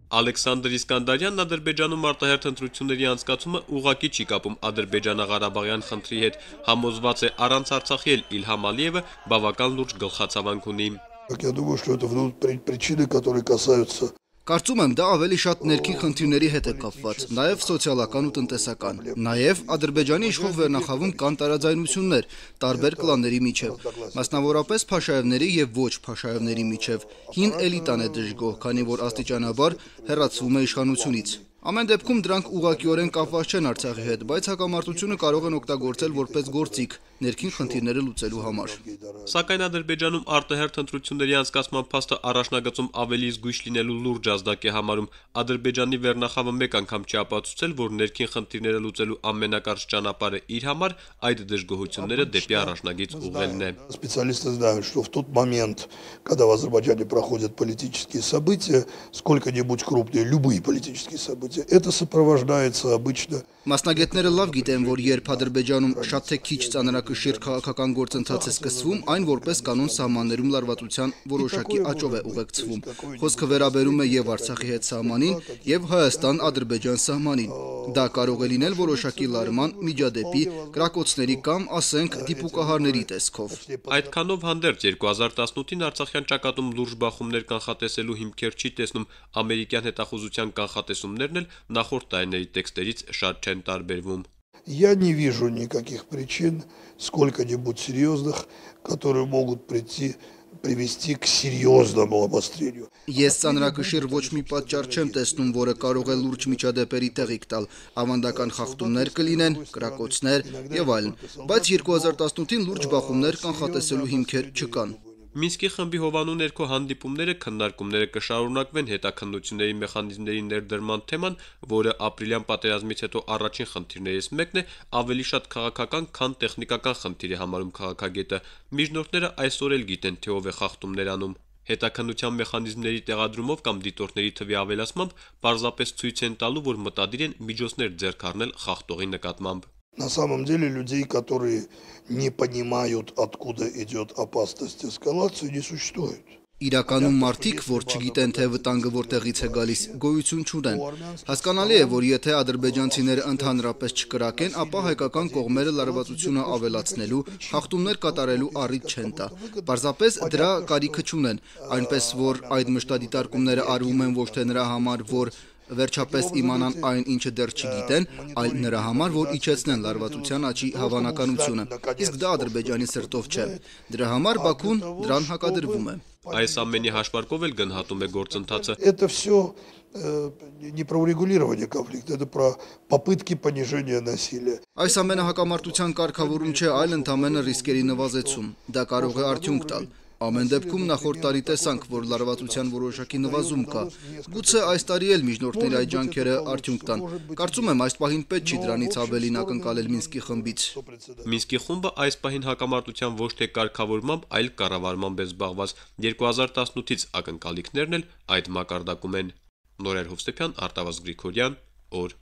Ալեքսանդր Իսկանդարյանն Ադրբեջանում արտահերթ ընտրությունների անցկացումը ուղղակի չի կապում ադրբեջանա-ղարաբաղյան խնդրի հետ, համոզված է առանց Արցախի էլ Իլհամ Ալիևը բավական լուրջ գլխացավանք ունի։ Я думаю, что это причины, которые касаются. Կարծում եմ, դա ավելի շատ ներքին խնդիրների հետ է կապված, նաև սոցիալական ու տնտեսական։ Նաև Ադրբեջանի իշխող վերնախավում կան տարաձայնություններ տարբեր կլանների միջև, մասնավորապես Փաշաևների եւ ոչ Փաշաևների միջև։ Հին էլիտան է դժգոհ, քանի որ աստիճանաբար հեռացվում է իշխանությունից։ Ամեն դեպքում դրանք ուղղակիորեն կապված չեն Արցախի հետ, բայց հակամարտությունը կարող են օգտագործել որպես գործիք ներքին խնդիրները լուծելու համար։ Սակայն Ադրբեջանում արտահերթ ընտրությունների անցկացման փաստը առաջնագծում ավելի զգույշ լինելու լուրջ ազդակ է համարում։ Ադրբեջանի վերնախավը մեկ անգամ չի ապացուցել, որ ներքին խնդիրները լուծելու ամենակարճ ճանապարհը իր համար այդ դժգոհությունները դեպի առաջնագիծ ուղղելն է։ Специалисты знают, что в тот момент, когда в Азербайджане проходят политические события, сколько-нибудь крупные, любые политические события, это сопровождается обычно. Մասնագետները լավ գիտեն, որ երբ Ադրբեջանում շատ թե քիչ ծանրակշիռ քաղաքական գործընթաց է սկսվում, այն որպես կանոն սահմաններում լարվածության որոշակի աճով է ուղեկցվում։ Խոսքը վերաբերում է եւ Արցախի հետ սահմանին, եւ Հայաստան-Ադրբեջան սահմանին։ Դա կարող է լինել որոշակի լարման, միջադեպի, կրակոցների կամ, ասենք, դիպուկահարների տեսքով։ Այդքանով հանդերձ 2018-ին Արցախյան ճակատում լուրջ բախումներ կանխատեսելու հիմքեր չի տեսնում, ամերիկյան հետախուզության կանխատեսումներն էլ նախորդ տարիների տեքստերից շատ չեն տարբերվում։ Я не вижу никаких причин, сколько-нибудь серьезных, которые могут привести к серьезному обострению. Ես ծանրակշիռ ոչ մի պատճառ չեմ տեսնում, որը կարող է լուրջ միջադեպերի տեղիք տալ, ավանդական խախտումներ կլինեն, կրակոցներ եւ այլն, բայց 2018-ին լուրջ բախումներ կանխատեսելու հիմքեր չկան։ Մինսկի խմբի հովանու ներքո հանդիպումները, քննարկումները կշարունակվեն հետաքննությունների մեխանիզմների ներդրման թեման, որը ապրիլյան պատերազմից հետո առաջին խնդիրներից մեկն է, ավելի շատ քաղաքական, քան տեխնիկական խնդիր է համարում քաղաքագետը։ Միջնորդները այսօր էլ գիտեն, թե ով է խախտումներ անում։ Հետաքննության մեխանիզմների տեղադրումով կամ դիտորդների թվի ավելացմամբ պարզապես ցույց են տալու, որ մտադիր են միջոցներ ձեռք առնել խախտողի նկատմամբ։ На самом деле людей, которые не понимают, откуда идет опасность эскалации, не существует. Իրականում մարդիկ, որ չգիտեն, թե վտանգը որտեղից է գալիս, գոյություն չունեն։ Հասկանալի է, որ եթե ադրբեջանցիները ընդհանրապես չկրակեն, ապա հայկական կողմերը լարվածությունը ավելացնելու, խախտումներ կատարելու առիթ չեն տա։ Պարզապես դրա կարիքը չունեն, այնպես որ այդ մշտադիտարկումները արվում են ոչ թե նրա համար, որ վերջապես իմանան այն, ինչը դեռ չգիտեն, այլ նրա համար, որ իջեցնեն լարվածության աճի հավանականությունը։ Իսկ դա Ադրբեջանի սրտով չէ։ Դրա համար Բաքուն դրան հակադրվում է։ Այս ամենի հաշվարկով էլ գնահատում է գործընթացը։ Это все не про урегулирование конфликта, это про попытки понижения насилия. Այս ամենը հակամարտության կարգավորում չէ, այլ ընդամենը ռիսկերի նվազեցում։ Դա կարող է արդյունք տալ։ Ամեն դեպքում նախորդ տարի տեսանք, որ լարվածության որոշակի նվազում կա։ Գուցե այս տարի էլ միջնորդների այդ ջանքերը արդյունք տան։ Կարծում եմ, այս պահին պետք չի դրանից ավելին ակնկալել Մինսկի խմբից։ Մինսկի խումբը այս պահին հակամարտության ոչ թե կարգավորմամբ, այլ կառավարմամբ է զբաղված։ 2018-ից ակնկալիքներն էլ այդ մակարդակում են։ Նորեր Հովսեփյան, Արտավազդ Գրիգորյան, օր։